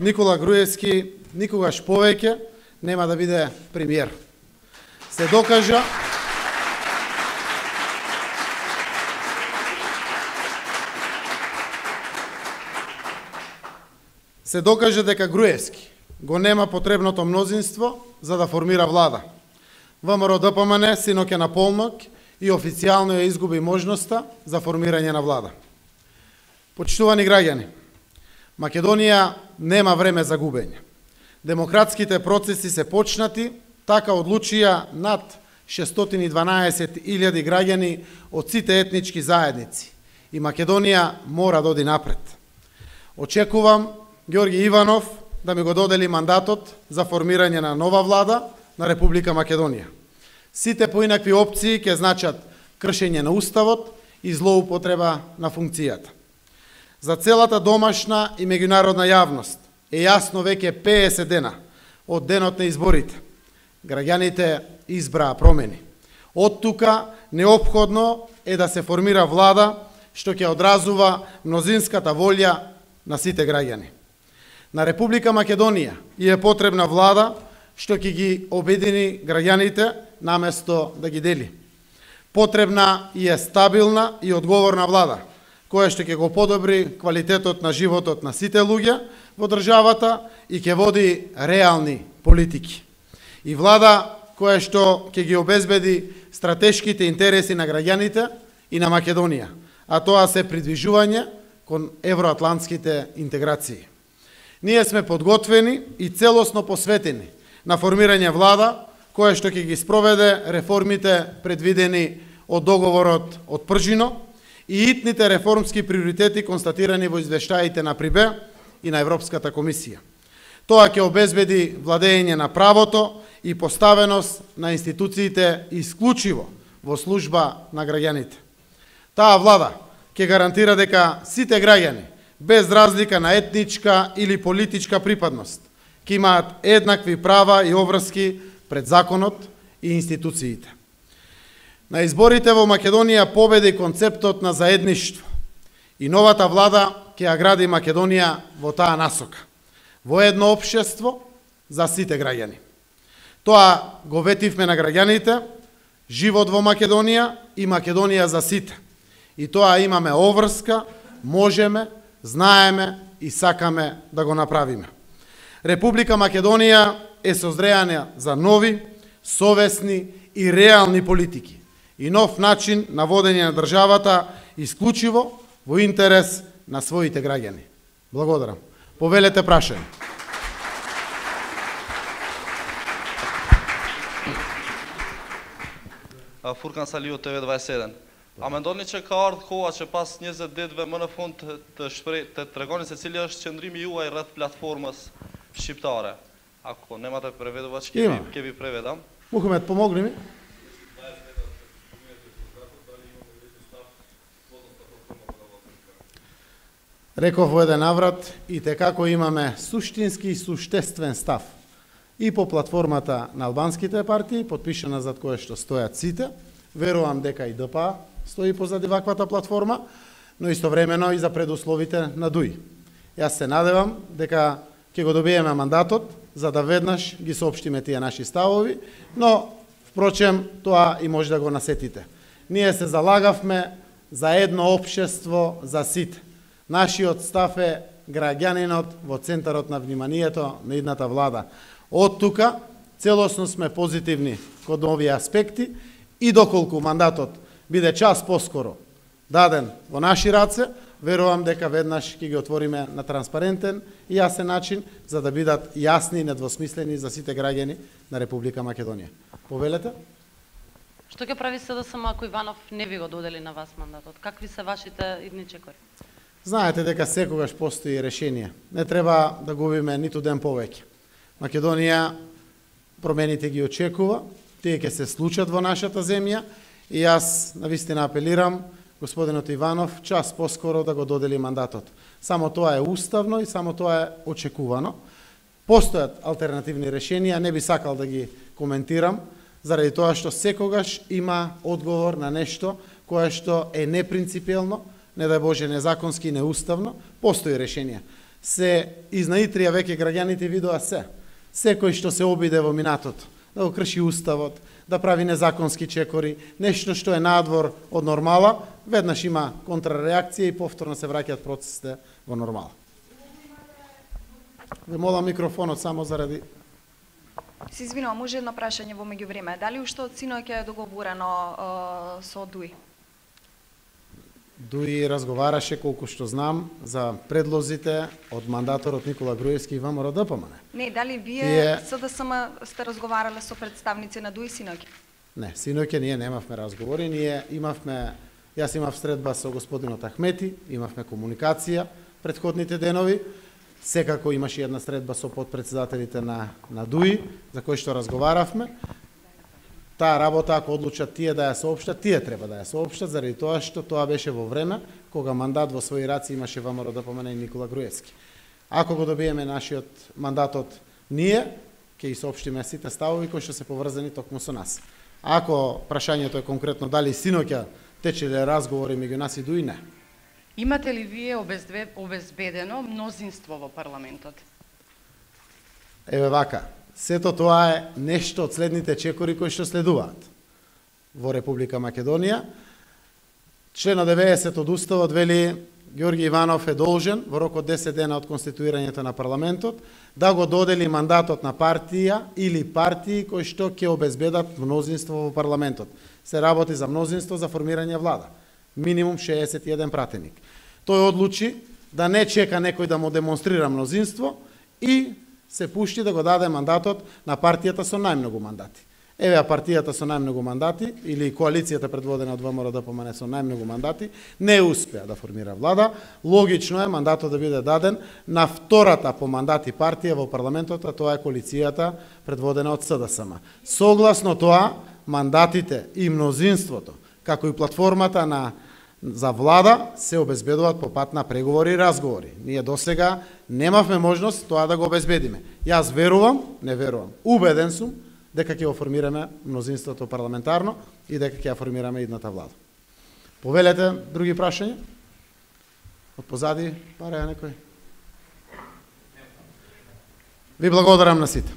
Никола Груевски никогаш повеќе нема да биде премиер. Се докажа дека Груевски го нема потребното мнозинство за да формира влада. ВМРО-ДПМН синоќе на полнок и официјално ја изгуби можноста за формирање на влада. Почитувани граѓани, Македонија нема време за губење. Демократските процеси се почнати, така одлучија над 612.000 граѓани од сите етнички заедници и Македонија мора да оди напред. Очекувам Ѓорги Иванов да ми го додели мандатот за формирање на нова влада на Република Македонија. Сите поинакви опции ќе значат кршење на уставот и злоупотреба на функцијата. За целата домашна и меѓународна јавност е јасно веќе 50 дена од денот на изборите. Граѓаните избраа промени. Од тука неопходно е да се формира влада што ќе одразува мнозинската волја на сите граѓани. На Република Македонија е потребна влада што ќе ги обедини граѓаните наместо да ги дели. Потребна е стабилна и одговорна влада, која што ќе го подобри квалитетот на животот на сите луѓе во државата и ќе води реални политики. И влада која што ќе ги обезбеди стратешките интереси на граѓаните и на Македонија, а тоа се придвижување кон евроатлантските интеграции. Ние сме подготвени и целосно посветени на формирање влада која што ќе ги спроведе реформите предвидени од договорот од Пржино и итните реформски приоритети констатирани во извештаите на ПРИБЕ и на Европската комисија. Тоа ќе обезбеди владење на правото и поставеност на институциите исклучиво во служба на граѓаните. Таа влада ќе гарантира дека сите граѓани, без разлика на етничка или политичка припадност, ќе имаат еднакви права и обврски пред законот и институциите. На изборите во Македонија победи концептот на заедништво и новата влада ќе ја гради Македонија во таа насока, во едно општество за сите граѓани. Тоа го ветивме на граѓаните, живот во Македонија и Македонија за сите. И тоа имаме обврска, можеме, знаеме и сакаме да го направиме. Република Македонија е созреана за нови, совесни и реални политики и нов начин на водење на државата исклучиво во интерес на своите граѓани. Благодарам. Повелете прашање. Фуркан Салио, TV21. А мендони че ка ардh koha që pas 20 ditëve më në fund të tregoni se cili është qëndrimi juaj rreth platformës shqiptare. Ako nemate prevedova që kemi prevedam? Мухамед, помогни ми. Реков во еден наврат и како имаме суштински и суштествен став и по платформата на албанските партии, подпишана зад кое што стојат сите. Верувам дека и ДПА стои позади ваквата платформа, но истовремено и за предусловите на ДУИ. Јас се надевам дека ќе го добиеме мандатот за да веднаш ги соопштиме тие наши ставови, но впрочем тоа и може да го насетите. Ние се залагавме за едно општество за сите. Нашиот став е граѓанинот во центарот на вниманието на идната влада. Од тука целосно сме позитивни кон овие аспекти и доколку мандатот биде час поскоро даден во наши раце, верувам дека веднаш ќе ги отвориме на транспарентен и јасен начин за да бидат јасни и недвосмислени за сите граѓани на Република Македонија. Повелете? Што ќе прави СДСМ ако Иванов не ви го додели на вас мандатот? Какви се вашите идни чекори? Знаете дека секогаш постои решение. Не треба да губиме ниту ден повеќе. Македонија промените ги очекува, тие ќе се случат во нашата земја и јас навистина апелирам господинот Иванов час поскоро да го додели мандатот. Само тоа е уставно и само тоа е очекувано. Постојат алтернативни решенија, не би сакал да ги коментирам, заради тоа што секогаш има одговор на нешто кое што е непринципиелно, не дај Боже незаконски и неуставно, постои решенија. се изнаитрија веќе граѓаните видоа се. Секој што се обиде во минатото, да го крши уставот, да прави незаконски чекори, нешто што е надвор од нормала, веднаш има контрреакција и повторно се враќаат процесите во нормала. Ве молам микрофонот само заради... Се извинувам, може едно прашање во меѓувреме. Дали уште од синоќа е договорено со ДУИ? ДУИ разговараше, колку што знам, за предлозите од мандаторот Никола Груевски и ВМРО ДПМН. Не, дали вие СДСМ сте разговарале со представници на ДУИ синоќа? Не, синоќа ние немавме разговори, јас имав средба со господинот Ахмети, имавме комуникација претходните денови, секако имаше една средба со подпредседателите на ДУИ, за кој што разговаравме. Таа работа, ако одлучат тие да ја соопштат, тие треба да ја соопштат, заради тоа што тоа беше во време кога мандат во своји раци имаше ВМРО ДПМН и Никола Груевски. Ако го добиеме нашиот мандатот ние, ќе и соопштиме сите ставови кои што се поврзани токму со нас. Ако прашањето е конкретно дали синоќа течеле разговори меѓу нас и ДУИ, не. Имате ли вие обезбедено мнозинство во парламентот? Еве вака, сето тоа е нешто од следните чекори кои што следуваат во Република Македонија. Член 90 од Уставот вели Ѓорги Иванов е должен во рок од 10 дена од конституирањето на парламентот да го додели мандатот на партија или партии кои што ќе обезбедат мнозинство во парламентот. Се работи за мнозинство за формирање влада. Минимум 61 пратеник. Тој одлучи да не чека некој да му демонстрира мнозинство и се пушти да го даде мандатот на партијата со најмногу мандати. Еве партијата со најмногу мандати или коалицијата предводена од ВМРО ДПМН со најмногу мандати не успеа да формира влада. Логично е мандатот да биде даден на втората по мандати партија во парламентот, а тоа е коалицијата предводена од СДСМ. Согласно тоа, мандатите и мнозинството, како и платформата за влада се обезбедуваат по пат на преговори и разговори. Ние досега немавме можност тоа да го обезбедиме. Јас верувам, не верувам, убеден сум дека ќе го формираме мнозинството парламентарно и дека ќе ја формираме идната влада. Повелете други прашања? Од позади, параја некој? Ви благодарам на сите.